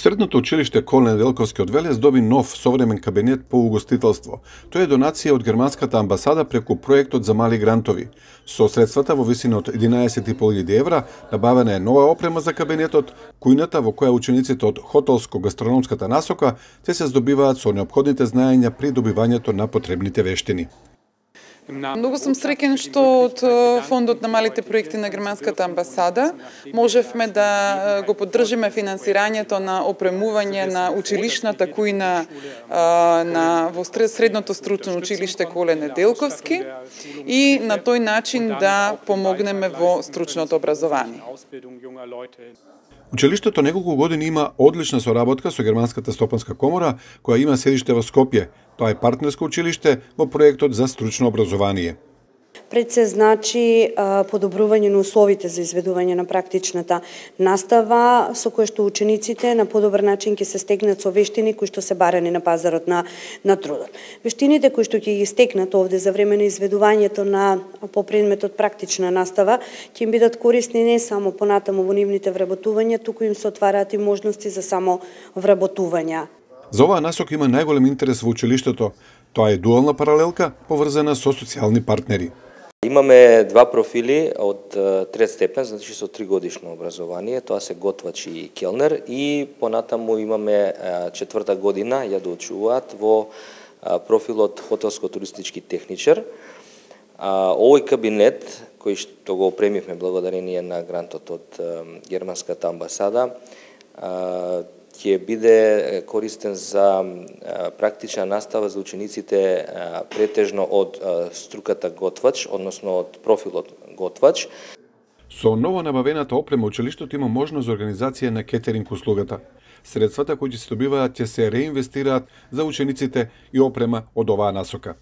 Средното училиште Колене Неделковски од Велес доби нов современ кабинет по угостителство. Тоа е донација од германската амбасада преку проектот за мали грантови. Со средствата во висина од 11.500 евра набавена е нова опрема за кабинетот, кујната во која учениците од хотелско-гастрономската насока се здобиваат со неопходните знаења при добивањето на потребните вештини. Многу сум среќен што од фондот на малите проекти на германската амбасада можевме да го поддржиме финансирањето на опремување на училишната кујна во средното стручно училиште Колене Неделковски и на тој начин да помогнеме во стручното образование. Училиштето неколку години има одлична соработка со Германската стопанска комора, која има седиште во Скопје. Тоа е партнерско училиште во проектот за стручно образование. Пред се значи подобрување на условите за изведување на практичната настава, со која што учениците на подобар начин ќе се стекнат со вештини кои што се барани на пазарот на трудот. Вештините кои што ќе ги стекнат овде за време на изведувањето по предметот практична настава ќе им бидат корисни не само понатаму во нивните вработувања, туку им се отвараат и можности за само вработувања. За оваа насока има најголем интерес во училиштето. Тоа е дуална паралелка поврзана со социјални партнери. Имаме два профили од трет степен, значи со 3-годишно образование, тоа се готвач и келнер, и понатаму имаме четврта година ја доучуваат во профилот хотелско-туристички техничар. Овој кабинет кој што го опремивме благодарение на грантот од германската амбасада ќе биде користен за практична настава за учениците претежно од струката готвач, односно од профилот готвач. Со ново набавената опрема училиштето има можност за организација на кетеринг услугата. Средствата кои ќе се добиваат ќе се реинвестираат за учениците и опрема од оваа насока.